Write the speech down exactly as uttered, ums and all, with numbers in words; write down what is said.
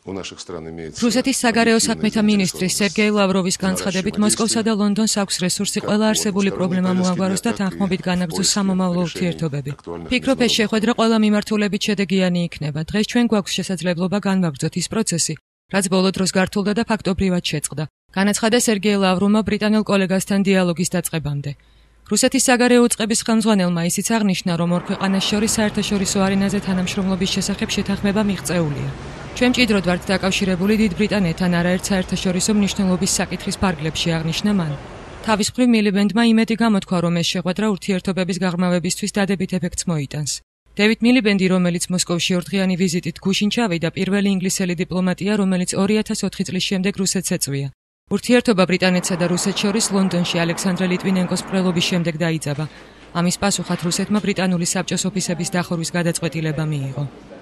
რუსეთის საგარეო საქმეთა მინისტრის სერგეი ლავროვის განცხადებით მოსკოვსა და ლონდონს აქვს რესურსი ყველა არსებული პრობლემა მოაგვაროს და თანხმობით განაგრძოს სამომავლო ურთიერთობები. Ფიქრობ, ეს შეხვედრა ყველა მიმართულებით შედეგიანი იქნება. დღეს ჩვენ გვაქვს შესაძლებლობა განვაგრძოთ ის პროცესი, რაც ბოლო დროს გართულდა და ფაქტობრივად შეწყდა. განაცხადა სერგეი ლავროვმა ბრიტანელ კოლეგასთან დიალოგის დაწყებამდე. რუსეთის საგარეო უწყების ხელმძღვანელმა ისიც აღნიშნა, რომ ორ ქვეყანას შორის საერთაშორისო არენაზე თანამშრომლობის შესახებ შეთანხმება მიღწეულია. ჩვენ მჭიდროდ ვართ დაკავშირებული დიდ ბრიტანეთთან არაერთ საერთაშორისო მნიშვნელობის საკითხის ფარგლებში, აღნიშნა მან. თავის მხრივ მილიბენდმა იმედი გამოთქვა, რომ ეს შეხვედრა ურთიერთობების გაღრმავებისთვის დადებით ეფექტს მოიტანს. დევიდ მილიბენდი, რომელიც მოსკოვში ორდღიანი ვიზიტით გუშინ ჩავიდა, პირველი ინგლისელი დიპლომატია, რომელიც ორი ათას ოთხი წლის შემდეგ რუსეთს ეწვია. ურთიერთობა ბრიტანეთსა და რუსეთს შორის ლონდონში ალექსანდრე ლიტვინენკოს მკვლელობის შემდეგ დაიძაბა. ამის პასუხად რუსეთმა ბრიტანული საბჭოს ოფისების დახურვის გადაწყვეტილება მიიღო.